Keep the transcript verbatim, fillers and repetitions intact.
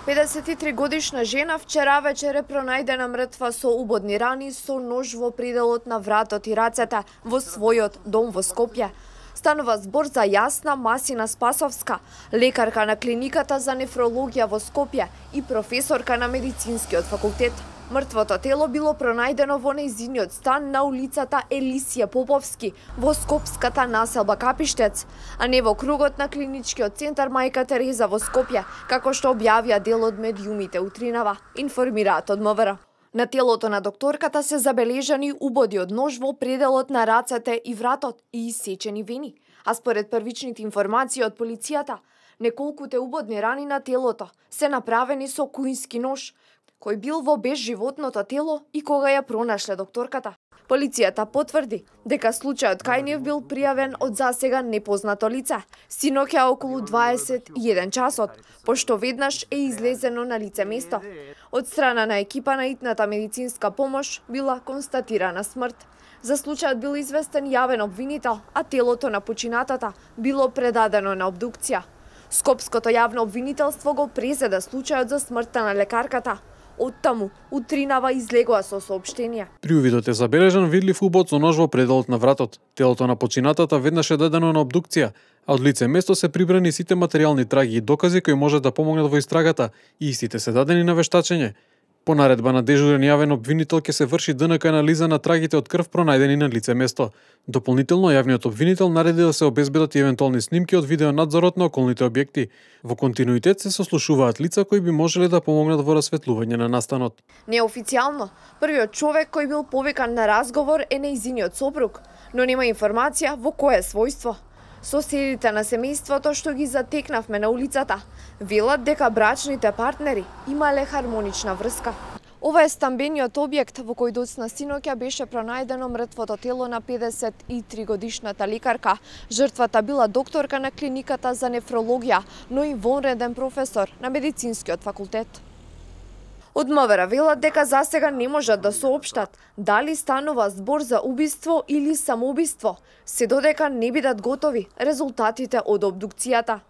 педесет и три годишна жена вчера вечер е пронајдена мртва со убодни рани со нож во пределот на вратот и рацете во својот дом во Скопје. Станува збор за Јасна Масина Спасовска, лекарка на клиниката за нефрологија во Скопје и професорка на медицинскиот факултет. Мртвото тело било пронајдено во нејзиниот стан на улицата Елисија Поповски во скопската населба Капиштец, а не во кругот на клиничкиот центар Мајка Тереза во Скопје, како што објавија дел од медиумите утринава, информираат од МВР. На телото на докторката се забележани убоди од нож во пределот на рацете и вратот и исечени вени, а според првичните информации од полицијата, неколкуте убодни рани на телото се направени со куински нож, кој бил во безживотното тело и кога ја пронашле докторката. Полицијата потврди дека случајот кај нив бил пријавен од засега непознато лице, синоќа околу дваесет и еден часот, пошто веднаш е излезено на лице место. Од страна на екипа на итната медицинска помош била констатирана смрт. За случајот бил известен јавен обвинител, а телото на починатата било предадено на обдукција. Скопското јавно обвинителство го презеда случајот за смртта на лекарката. Оттаму, утринава излегоа со соопштение. При увидот е забележан видлив убод со нож во пределот на вратот. Телото на починатата веднаш е дадено на обдукција, а од лице место се прибрани сите материјални траги и докази кои можат да помогнат во истрагата и истите се дадени на вештачење. По наредба на дежурен јавен обвинител ќе се врши ДНК анализа на трагите од крв пронајдени на лице место. Дополнително јавниот обвинител нареди да се обезбедат и евентуални снимки од видеонадзорот на околните објекти. Во континуитет се сослушуваат лица кои би можеле да помогнат во расветлување на настанот. Неофицијално, првиот човек кој бил повикан на разговор е нејзиниот сопруг, но нема информација во кое својство. Соседите на семејството што ги затекнавме на улицата велат дека брачните партнери имале хармонична врска. Ова е стамбениот објект во кој доцна синоќа беше пронајдено мртвото тело на педесет и три годишната лекарка. Жртвата била докторка на клиниката за нефрологија, но и вонреден професор на медицинскиот факултет. Од МВР велат дека засега не можат да соопштат дали станува збор за убиство или самоубиство, се додека не бидат готови резултатите од обдукцијата.